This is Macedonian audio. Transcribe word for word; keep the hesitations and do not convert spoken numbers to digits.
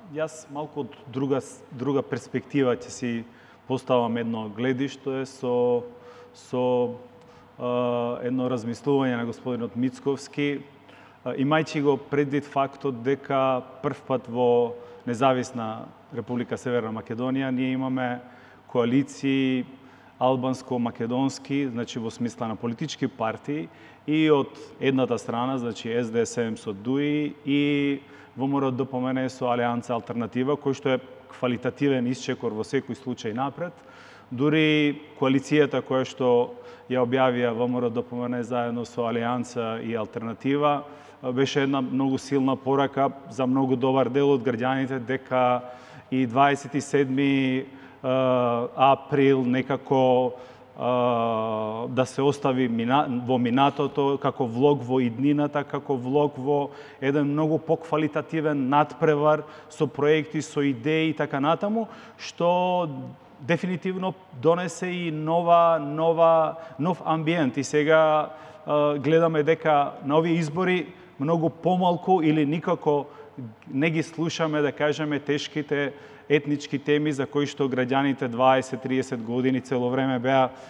Јас малку од друга друга перспектива ќе си поставам едно гледиште со со uh, едно размислување на господинот Мицковски, uh, имајќи го предвид фактот дека првпат во независна Република Северна Македонија ние имаме коалиции албанско-македонски, значи во смисла на политички партии, и од едната страна, значи Ес Де Ес Ем со ДУИ и ВМРО-ДПМНЕ со Алијанса Алтернатива, кој што е квалитативен исчекор во секој случај напред. Дури коалицијата која што ја објавија ВМРО-ДПМНЕ заедно со Алијанса и Алтернатива беше една многу силна порака за многу добар дел од граѓаните дека и дваесет и седми април некако да се остави во минатото, како влог во иднината, како влог во еден многу поквалитативен надпревар со проекти, со идеи и така натаму, што дефинитивно донесе и нова, нова, нов амбиент. И сега гледаме дека на овие избори многу помалку или никако не ги слушаме, да кажеме, тешките етнички теми за кои што граѓаните дваесет до триесет години цело време беа